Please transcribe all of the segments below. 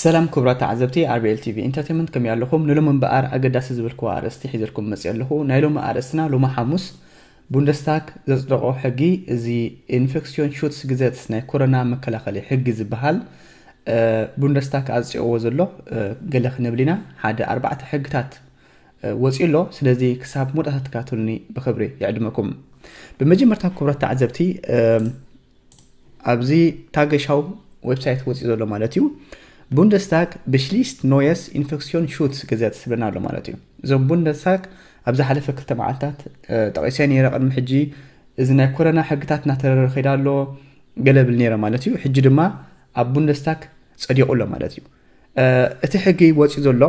ሰላም ክቡራት ተዓዘብቲ ኣርቢኤል ቲቪ ኢንተርቴንመንት፣ ከመይ ኣለኹም? ንሎሚ እምበኣር ኣገዳሲ ዝብልክዎ ኣርእስቲ ሒዘልኩም መፅእ ኣለኹ። ናይ ሎሚ ኣርእስትና ሎሚ ሓሙስ ቡንደስታግ ዘፅደቖ ሕጊ፣ እዚ ኢንፌክሲዮን ሹትስ ግዘትስ ናይ ኮሮና መከላኸሊ ሕጊ ዝበሃል፣ ቡንደስታግ ኣፅዲቕዎ ዘሎ ገለ ክንብል ኢና። ሓደ ኣርባዕተ ሕግታት ወፂኡ ኣሎ። ስለዚ ክሳብ መወዳእታ ትከታተሉኒ ብክብሪ ይዕድመኩም። ብመጀመርታ ክቡራት ተዓዘብቲ፣ ኣብዚ ታገሻው ዌብሳይት ወፂኡ ዘሎ ማለት እዩ። ቡንደስታግ ብሽሊስት ኖየስ ኢንፌክሲዮን ሹትስ ግዘትስ ዝብለና ኣሎ ማለት እዩ። እዞም ቡንደስታግ ኣብ ዝሓለፈ ክልተ መዓልታት ጠቂሰ ነይረ። ቅድሚ ሕጂ እዚ ናይ ኮሮና ሕግታት እናተረረ ከይዳ ኣሎ ገለ ብል ነይረ ማለት እዩ። ሕጂ ድማ ኣብ ቡንደስታግ ፀዲቑ ኣሎ ማለት እዩ። እቲ ሕጊ ወፂኡ ዘሎ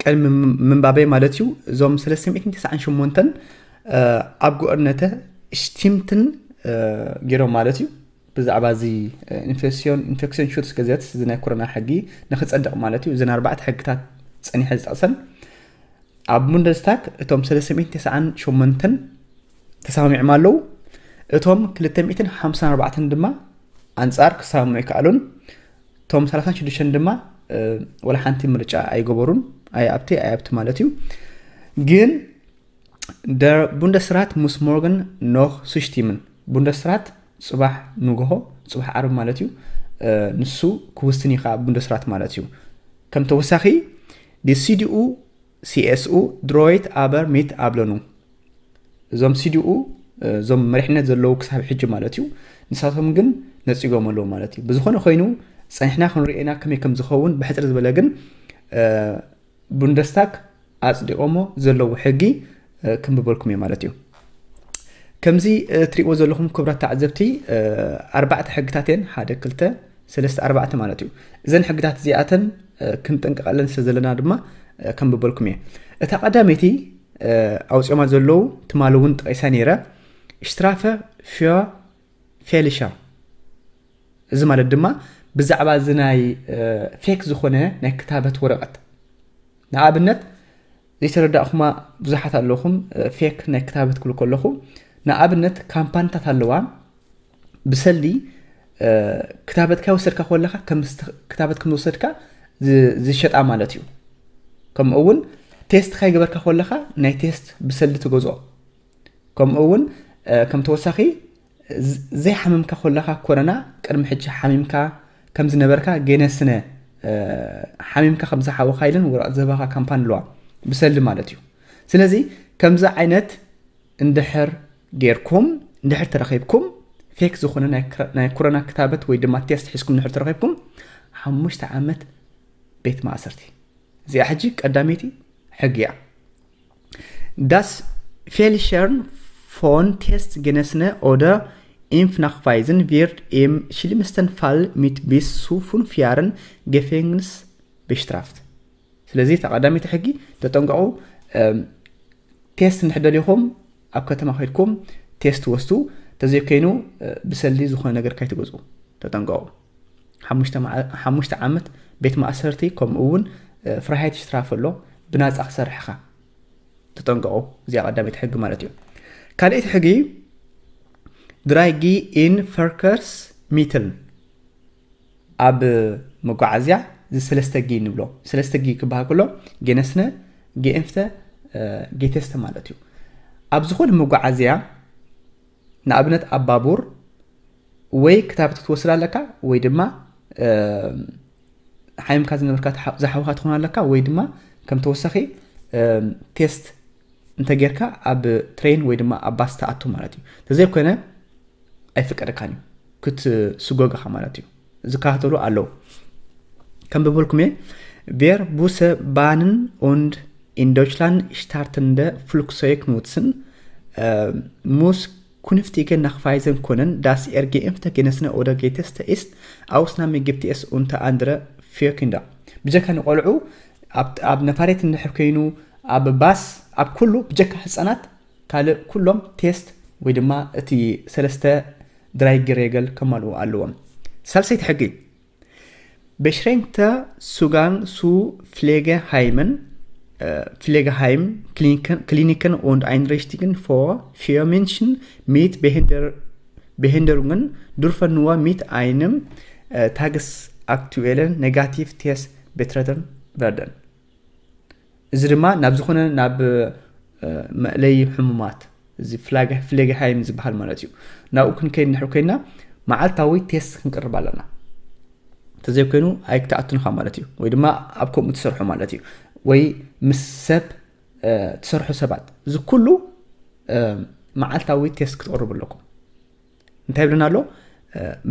ቅድሚ ምንባበይ ማለት እዩ፣ እዞም ሰለስተ ሚእትን ተስዓን ሸሞንተን ኣብ ጎእርነተ ሽቲምትን ገይሮም ማለት እዩ። ብዛዕባ እዚ ኢንፌክሲዮን ኢንፌክሲዮን ሹትስ ግዘትስ፣ እዚ ናይ ኮሮና ሕጊ ንክፀድቕ ማለት እዩ። እዘን ኣርባዕተ ሕግታት ፀኒሐ ዝጠቕሰን ኣብ ቡንደስታግ እቶም ሰለስተ ሚእትን ተስዓን ሸሞንተን ተሰማሚዖም ኣለዉ። እቶም ክልተ ሚእትን ሓምሳን ኣርባዕተን ድማ ኣንጻር ክሰማምዑ ይከኣሉን፣ እቶም ሰላሳን ሽዱሽተን ድማ ወላ ሓንቲ ምርጫ ኣይገበሩን። ኣይ ኣብቲ ኣይ ኣብቲ ማለት እዩ። ግን ደ ቡንደስራት ሙስ ሞርገን ኖኽ ሱሽቲምን፣ ቡንደስራት ፅባሕ ንግሆ፣ ፅባሕ ዓርቢ ማለት እዩ። ንሱ ክውስን እዩ ከዓ ቡንደስራት ማለት እዩ። ከም ተወሳኺ ዲ ሲዲኡ ሲኤስኡ ድሮይት ኣበር ሚት ኣብለኑ፣ እዞም ሲዲኡ እዞም መሪሕነት ዘለዉ ክሳብ ሕጂ ማለት እዩ። ንሳቶም ግን ነፂጎም ኣለዉ ማለት እዩ። ብዝኾነ ኮይኑ ፀኒሕና ክንሪኤና ከመይ ከም ዝኸውን ብሕፅር ዝበለ ግን ቡንደስታግ ኣፅዲቆሞ ዘለዉ ሕጊ ክንብበልኩም እየ ማለት እዩ። ከምዚ ትሪእዎ ዘለኹም ክቡራት ተዓዘብቲ፣ ኣርባዕተ ሕግታት እየን፣ ሓደ ክልተ ሰለስተ ኣርባዕተ ማለት እዩ። እዘን ሕግታት እዚኣተን ክንጥንቀቐለን ስለ ዘለና ድማ ከንብበልኩም እየ። እታ ቀዳመይቲ ኣውፅኦማ ዘለዉ ትማሊ እውን ጠቂሳ ነይረ፣ ሽትራፈ ፊዮ ፌሊሻ። እዚ ማለት ድማ ብዛዕባ እዚ ናይ ፌክ ዝኾነ ናይ ክታበት ወረቐት፣ ንኣብነት ዘይተረዳእኹማ ብዙሓት ኣለኹም። ፌክ ናይ ክታበት ክብል ከለኹ፣ ንኣብነት ካምፓኒታት ኣለዋ ብሰልዲ ክታበትካ ወሰድካ ከለኻ ክታበት ከም ዝወሰድካ ዝሸጣ ማለት እዩ። ከምኡ እውን ቴስት ካይገበርካ ከለኻ ናይ ቴስት ብሰልዲ ትገዝኦ። ከምኡ እውን ከም ተወሳኺ ዘይሓመምካ ከለኻ ኮረና ቅድሚ ሕጂ ሓሚምካ ከም ዝነበርካ ገነስነ ሓሚምካ ከም ዝሓወኻ ኢለን ወረቐት ዝህባኻ ካምፓኒ ኣለዋ ብሰልዲ ማለት እዩ። ስለዚ ከምዚ ዓይነት እንድሕር ጌርኩም እንድሕር ተረኺብኩም ፌክ ዝኾነ ናይ ኮሮና ክታበት ወይ ድማ ቴስት ሒዝኩም እንድሕር ተረኺብኩም ሓሙሽተ ዓመት ቤት ማእሰርቲ። እዚኣ ሕጂ ቀዳመይቲ ሕጊ እያ። Das Fälschern von Testgenessene oder Impfnachweisen wird im schlimmsten Fall mit bis zu fünf Jahren Gefängnis bestraft። ስለዚ ተቐዳሚቲ ሕጊ ተጠንቀቑ። ቴስት እንድሕር ደሊኹም ኣብ ከተማ ከይድኩም ቴስት ወስዱ። ተዘይኮይኑ ብሰልዲ ዝኾነ ነገር ካይትገዝኡ ተጠንቀቑ። ሓሙሽተ ዓመት ቤት ማእሰርቲ፣ ከምኡ እውን ፍራሃይት ሽትራፍ ኣሎ፣ ብናፃ ክሰርሕኻ ተጠንቀቑ። እዚኣ ቀዳመይቲ ሕጊ ማለት እዩ። ካልኣይቲ ሕጊ ድራይጊ ኢን ፈርከርስ ሚትል፣ ኣብ መጓዓዝያ እዚ ሰለስተ ጊ ንብሎ። ሰለስተ ጊ ክበሃል ከሎ ጌነስነ፣ ጌኤንፍተ፣ ጌቴስተ ማለት እዩ። ኣብ ዝኾነ መጓዓዝያ ንኣብነት ኣብ ባቡር ወይ ክታበት ክትወስድ ኣለካ ወይ ድማ ሓሚምካ ዝነበርካ ዝሓውካ ትኾን ኣለካ ወይ ድማ ከም ተወሳኺ ቴስት እንተጌርካ ኣብ ትሬን ወይ ድማ ኣብ ባስ ትኣቱ ማለት እዩ። ተዘይኮነ ኣይፍቀደካን እዩ፣ ክትስጎግ ኢኻ ማለት እዩ። ዝከታተሉ ኣለዉ። ከም ብበልኩም እየ፣ ቬር ቡሰ ባንን ኡንድ ኢን ዶችላንድ ሽታርትንደ ፍሉክሶይክ ኑትስን ሙስ ኩንፍቲገ ናክፋይዘን ኮነን ዳስ ኤር ጌኤምፍተ ጌነስነ ኦደር ጌቴስተ ኢስት ኣውስናሚ ግብቲ ኤስ ኡንተ ኣንድረ ፊዮኪንዳ። ብጀካ ንቆልዑ ኣብ ነፋሬት እንድሕር ኮይኑ ኣብ ባስ ኣብ ኩሉ ብጀካ ህፃናት ካልእ ኩሎም ቴስት ወይ ድማ እቲ ሰለስተ ድራይ ሬገል ከማልኡ ኣለዎም። ሳልሰይቲ ሕጊ፣ Beschränkte Zugang zu Pflegeheime, Pflegeheime, Kliniken und Einrichtungen für Menschen mit Behinderungen dürfen nur mit einem Tages aktuellen negativ test betreffen werden። እዚ ድማ ናብ ዝኾነ ናብ መእለይ ሕሙማት እዚ ፍሌግሃይም ዝበሃል ማለት እዩ። ናብኡ ክንከይድ ንድሕር ኮይና መዓልታዊ ቴስት ክንቅርብ ኣለና። እንተዘይኮይኑ ኣይክትኣቱንኻ ማለት እዩ፣ ወይ ድማ ኣብ ከምኡ ትሰርሑ ማለት እዩ፣ ወይ ምስ ሰብ ትሰርሑ ሰባት። እዚ ኩሉ መዓልታዊ ቴስት ክትቕርቡ ኣለኩም። እንታይ ይብልና ኣሎ?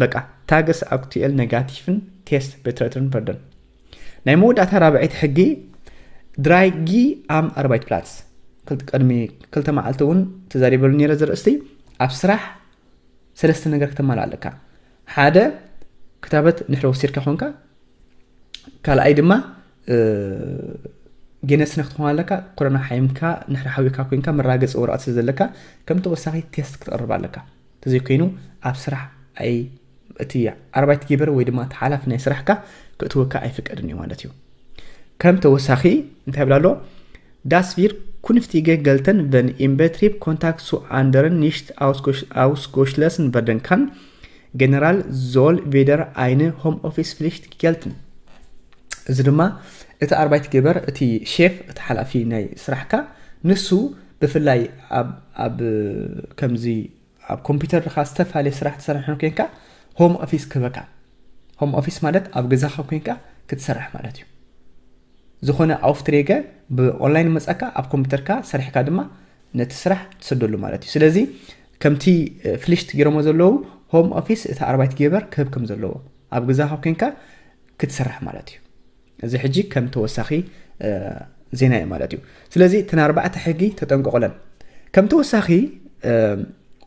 በቃ ታገስ ኣክቱኤል ነጋቲፍን ቴስት ቤትረትን ፈርደን። ናይ መወዳእታ ራብዐይቲ ሕጊ ድራይጊ ኣም ኣርባይት ፕላትስ። ቅድሚ ክልተ መዓልቲ እውን ተዛሪበሉ ነረ ዘርእስቲ ኣብ ስራሕ ሰለስተ ነገር ክተማልእ ኣለካ። ሓደ ክታበት ንሕረ ወሲድካ ኮንካ፣ ካልኣይ ድማ ጌነስነክ ትኾን ኣለካ። ኮሮና ሓይምካ ንሕረ ሓዊካ ኮንካ መራገፂ ወረቐት ስለ ዘለካ ከም ተወሳኺ ቴስት ክትቕርብ ኣለካ። ተዘይኮይኑ ኣብ ስራሕ ኣይ እቲ ኣርባይት ጌበር ወይ ድማ እቲ ሓላፊ ናይ ስራሕካ ክእትወካ ኣይፍቀድን እዩ ማለት እዩ። ከም ተወሳኺ እንታይ ብላ ኣሎ? Das wir künftige gelten, wenn im Betrieb Kontakt zu anderen nicht ausgeschlossen werden kann, generell soll wieder eine Homeoffice-Pflicht gelten። እዚ ድማ እቲ ኣርባይት ጌበር እቲ ሼፍ እቲ ሓላፊ ናይ ስራሕካ ንሱ ብፍላይ ኣብ ከምዚ ኣብ ኮምፒውተር ካ ዝተፈላለየ ስራሕ ትሰርሕ ኮይንካ ሆም ኦፊስ ክህበካ። ሆም ኦፊስ ማለት ኣብ ገዛኻ ኮይንካ ክትሰርሕ ማለት እዩ። ዝኾነ ኣውፍትሬገ ብኦንላይን መጻካ ኣብ ኮምፒውተርካ ሰሪሕካ ድማ ነቲ ስራሕ ትሰደሉ ማለት እዩ። ስለዚ ከምቲ ፍሊሽት ገይሮሞ ዘለዉ ሆም ኦፊስ እቲ ኣርባይት ጌበር ክህብ ከም ዘለዎ ኣብ ገዛኻ ኮይንካ ክትሰርሕ ማለት እዩ። እዚ ሕጂ ከም ተወሳኺ ዜና እዩ ማለት እዩ። ስለዚ እተን ኣርባዕተ ሕጊ ተጠንቀቑለን። ከም ተወሳኺ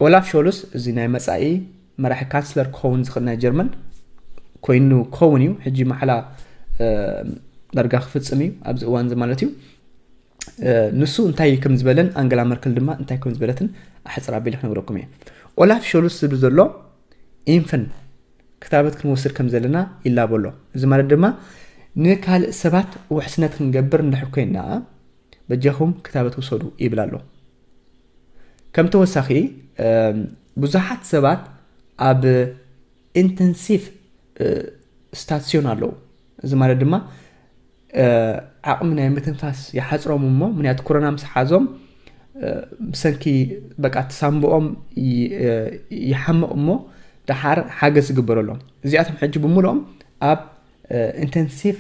ኦላፍ ሾሉስ እዚ ናይ መጻኢ መራሒ ካንስለር ክኸውን ዝኽእል ናይ ጀርመን ኮይኑ ክኸውን እዩ። ሕጂ ማዕላ ዳርጋ ክፍጽም እዩ ኣብዚ እዋን እዚ ማለት እዩ። ንሱ እንታይ ከም ዝበለን ኣንገላ መርከል ድማ እንታይ ከም ዝበለትን ኣሕፅር ኣቢለ ክነግረኩም እየ። ኦላፍ ሾሉስ ዝብል ዘሎ ኢንፍን ክታበት ክንወስድ ከም ዘለና ይላቦ ኣሎ። እዚ ማለት ድማ ንካልእ ሰባት ውሕስነት ክንገብር እንድሕር ኮይና በጃኹም ክታበት ውሰዱ ይብል ኣሎ። ከም ተወሳኺ ብዙሓት ሰባት ኣብ ኢንተንሲቭ ስታሲዮን ኣለዉ። እዚ ማለት ድማ ዓቕሚ ናይ ምትንፋስ ይሓፅሮም እሞ ምክንያቱ ኮሮና ምስ ሓዞም ብሰንኪ በቃ ትሳንብኦም ይሓምቕ እሞ ደሓር ሓገዝ ዝግበረሎም። እዚኣቶም ሕጂ ብምልኦም ኣብ ኢንተንሲቭ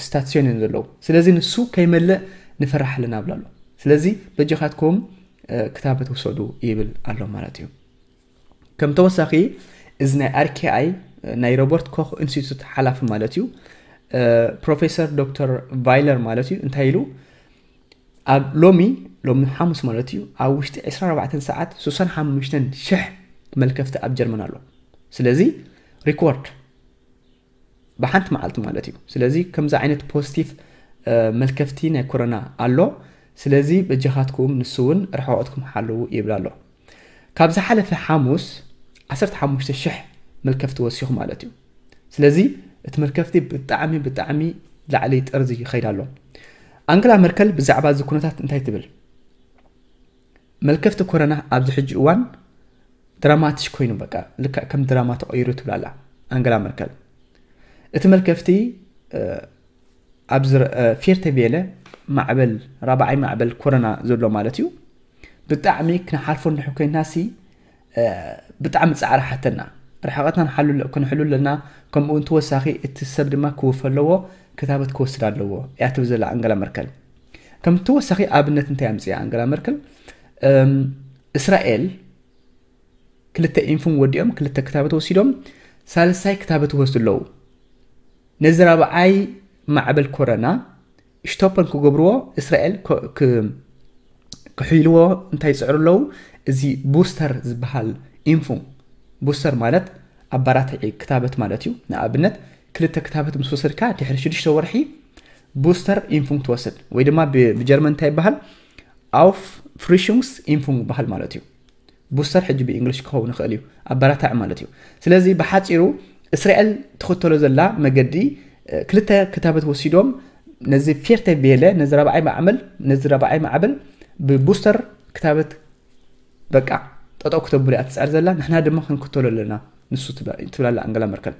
ስታሲዮን እዮም ዘለዉ። ስለዚ ንሱ ከይመልእ ንፈራሕ ኣለና ብላ ኣሎ። ስለዚ በጃኻትኩም ክታበት ውሰዱ ይብል ኣሎ ማለት እዩ። ከም ተወሳኺ እዚ ናይ ኣርኬኣይ ናይ ሮበርት ኮክ ኢንስቲቱት ሓላፊ ማለት እዩ ፕሮፌሰር ዶክተር ቫይለር ማለት እዩ እንታይ ኢሉ ኣብ ሎሚ ሎሚ ሓሙስ ማለት እዩ ኣብ ውሽጢ ዕስራን ኣርባዕተን ሰዓት ስሳን ሓሙሽተን ሽሕ መልከፍቲ ኣብ ጀርመን ኣሎ። ስለዚ ሪኮርድ ብሓንቲ መዓልቲ ማለት እዩ። ስለዚ ከምዚ ዓይነት ፖዚቲቭ መልከፍቲ ናይ ኮሮና ኣሎ። ስለዚ በጃኻትኩም ንሱ እውን ርሕቐትኩም ሓልዉ ይብል ኣሎ። ካብ ዝሓለፈ ሓሙስ ዓሰርተ ሓሙሽተ ሽሕ መልከፍቲ ወሲኹ ማለት እዩ። ስለዚ እቲ መልከፍቲ ብጣዕሚ ብጣዕሚ ላዕሊ ጠርዚ ይኸይድ ኣሎ። ኣንግላ መርከል ብዛዕባ እዚ ኩነታት እንታይ ትብል? መልከፍቲ ኮረና ኣብዚ ሕጂ እዋን ድራማቲሽ ኮይኑ በቃ ልክዕ ከም ድራማ ተቐይሩ ትብላላ ኣንገላ መርከል። እቲ መልከፍቲ ኣብዚ ፌርተ ቤለ ማዕበል ራብዓይ ማዕበል ኮረና ዘሎ ማለት እዩ። ብጣዕሚ ክንሓልፎ እንድሕር ኮይንና ሲ ብጣዕሚ ፃዕሪ ሓተና። ርሕቐትና ክንሕሉ ኣለና። ከምኡ እውን ተወሳኺ እቲ ሰብ ድማ ክውፈ ኣለዎ፣ ክታበት ክወስድ ኣለዎ እያ ትብል ዘላ ኣንገላ መርከል። ከም ተወሳኺ ኣብነት እንታይ ኣምፅያ ኣንገላ መርከል? እስራኤል ክልተ ኢንፉን ወዲኦም ክልተ ክታበት ወሲዶም ሳልሳይ ክታበት ይወስዱ ኣለዉ። ነዚ ራብዓይ ማዕበል ኮረና ሽቶፐን ክገብርዎ እስራኤል ክሕይልዎ እንታይ ይፅዕሩ ኣለዉ? እዚ ቡስተር ዝበሃል ኢንፉ ቡስተር ማለት ኣባራትዒ ክታበት ማለት እዩ። ንኣብነት ክልተ ክታበት ምስ ወሰድካ ድሕሪ ሽዱሽተ ወርሒ ቡስተር ኢንፉ ትወስድ ወይ ድማ ብጀርመን እንታይ ይበሃል ኣውፍ ፍሪሹንግስ ኢንፉ ይበሃል ማለት እዩ። ቡስተር ሕጂ ብእንግሊሽ ክኸውን ይኽእል እዩ ኣባራታዕ ማለት እዩ። ስለዚ ብሓፂሩ እስራኤል ትኽተሎ ዘላ መገዲ ክልተ ክታበት ወሲዶም ነዚ ፌርተ ቤለ ነዚ ራብዓይ ማዕመል ነዚ ራብዓይ ማዕበል ብቡስተር ክታበት በቃ ጠጠው ክተብሉ እያ ትፅዕር ዘላ። ንሕና ድማ ክንክተሎ ኣለና ንሱ ትብላላ ኣንገላ መርከል።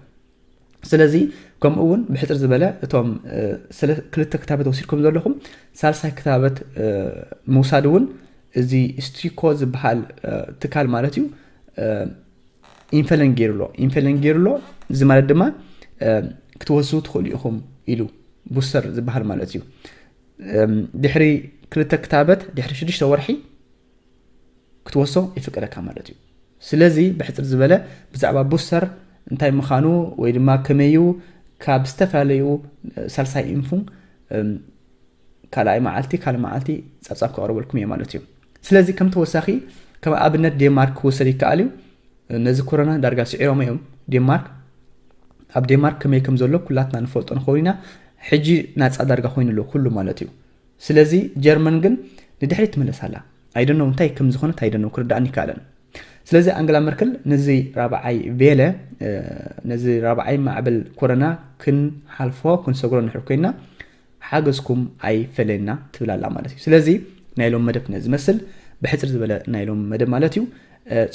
ስለዚ ከምኡ እውን ብሕፅር ዝበለ እቶም ክልተ ክታበት ወሲድኩም ዘለኹም ሳልሳይ ክታበት ምውሳድ እውን እዚ ስቲኮ ዝበሃል ትካል ማለት እዩ ኢንፈለን ገይሩ ኣሎ ኢንፈለን ገይሩ ኣሎ እዚ ማለት ድማ ክትወስዱ ትኽእሉ ኢኹም ኢሉ ቡስተር ዝበሃል ማለት እዩ ድሕሪ ክልተ ክታበት ድሕሪ ሽዱሽተ ወርሒ ክትወስዶ ይፍቀደካ ማለት እዩ ስለዚ ብሕፅር ዝበለ ብዛዕባ ቡስተር እንታይ ምዃኑ ወይ ድማ ከመዩ ካብ ዝተፈላለዩ ሳልሳይ ኢንፉ ካልኣይ መዓልቲ ካልእ መዓልቲ ጸብጻብ ከቕርበልኩም እየ ማለት እዩ ስለዚ ከም ተወሳኺ ከም ኣብነት ዴንማርክ ክወሰድ ይከኣል እዩ ነዚ ኮሮና ዳርጋ ስዒሮም እዮም ዴንማርክ ኣብ ዴንማርክ ከመይ ከም ዘሎ ኩላትና ንፈልጦ ንኸውን ኢና ሕጂ ናፃ ዳርጋ ኮይኑ ኣሎ ኩሉ ማለት እዩ ስለዚ ጀርመን ግን ንድሕሪት ትምለስ ኣላ ኣይደኖ እንታይ ከም ዝኾነት ኣይደኖ ክርዳእኒ ይከኣለን ስለዚ ኣንግላ መርክል ነዚ ራብዓይ ቬለ ነዚ ራብዓይ ማዕበል ኮረና ክንሓልፎ ክንሰግሮ ንሕር ኮይና ሓገዝኩም ኣይፈለየና ትብል ኣላ ማለት እዩ ስለዚ ናይ ሎም መደብ ነዚ መስል ብሕፅር ዝበለ ናይ ሎም መደብ ማለት እዩ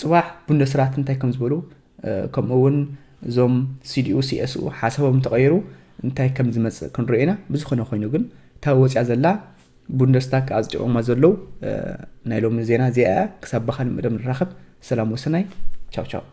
ፅባሕ ቡንደስራት እንታይ ከም ዝበሉ ከምኡ እውን እዞም ሲዲኡ ሲኤስኡ ሓሳቦም ተቐይሩ እንታይ ከም ዝመፅእ ክንሪኦ ኢና ብዝኾነ ኮይኑ ግን እታ ወፅያ ዘላ ቡንደስታግ ኣፅዲቖማ ዘለዉ ናይ ሎሚ ዜና እዚኣ እያ ክሳብ ብኻልእ መደብ ንራኸብ ሰላም ወሰናይ ቻው ቻው